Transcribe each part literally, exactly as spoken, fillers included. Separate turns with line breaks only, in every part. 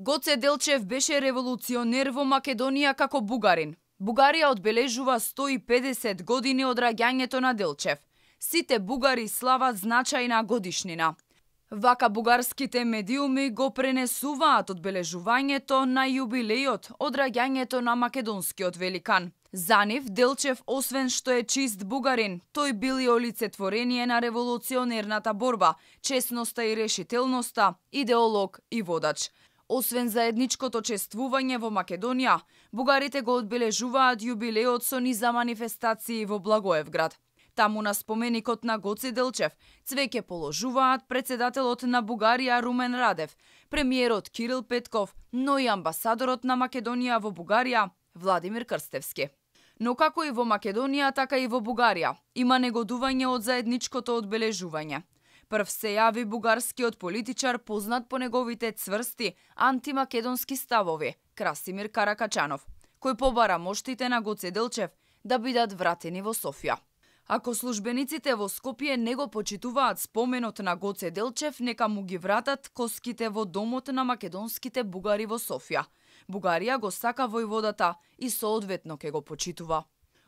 Гоце Делчев беше револуционер во Македонија како бугарин. Бугарија одбележува сто и педесет години од раѓањето на Делчев. Сите бугари слават значајна годишнина. Вака бугарските медиуми го пренесуваат одбележувањето на јубилејот од раѓањето на македонскиот великан. За нив Делчев, освен што е чист бугарин, тој бил и олицетворение на револуционерната борба, честноста и решителноста, идеолог и водач. Освен заедничкото чествување во Македонија, бугарите го одбележуваат јубилејот со низа манифестации во Благоевград. Таму на споменикот на Гоце Делчев цвеќе положуваат председателот на Бугарија Румен Радев, премиерот Кирил Петков, но и амбасадорот на Македонија во Бугарија Владимир Крстевски. Но како и во Македонија, така и во Бугарија има негодување од заедничкото одбележување. Прв се јави бугарскиот политичар познат по неговите цврсти антимакедонски ставови, Красимир Каракачанов, кој побара моштите на Гоце Делчев да бидат вратени во Софија. Ако службениците во Скопје не го почитуваат споменот на Гоце Делчев, нека му ги вратат коските во домот на македонските бугари во Софија. Бугарија го сака војводата и соодветно ке го почитува.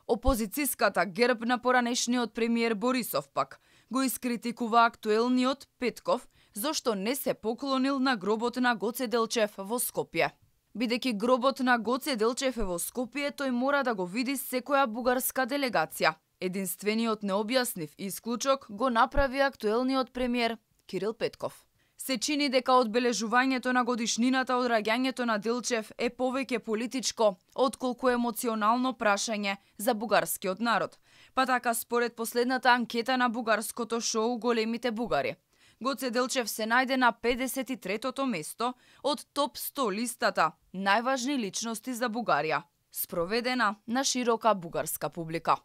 Опозицијската ГЕРБ на поранешниот премиер Борисов пак го искритикува актуелниот Петков зошто не се поклонил на гробот на Гоце Делчев во Скопје. Бидејќи гробот на Гоце Делчев е во Скопје, тој мора да го види секоја бугарска делегација. Единствениот необјаснив исклучок го направи актуелниот премиер Кирил Петков. Се чини дека одбележувањето на годишнината од раѓањето на Делчев е повеќе политичко, отколку емоционално прашање за бугарскиот народ. Па така според последната анкета на бугарското шоу Големите бугари, Гоце Делчев се најде на педесет и третото место од топ сто листата најважни личности за Бугарија, спроведена на широка бугарска публика.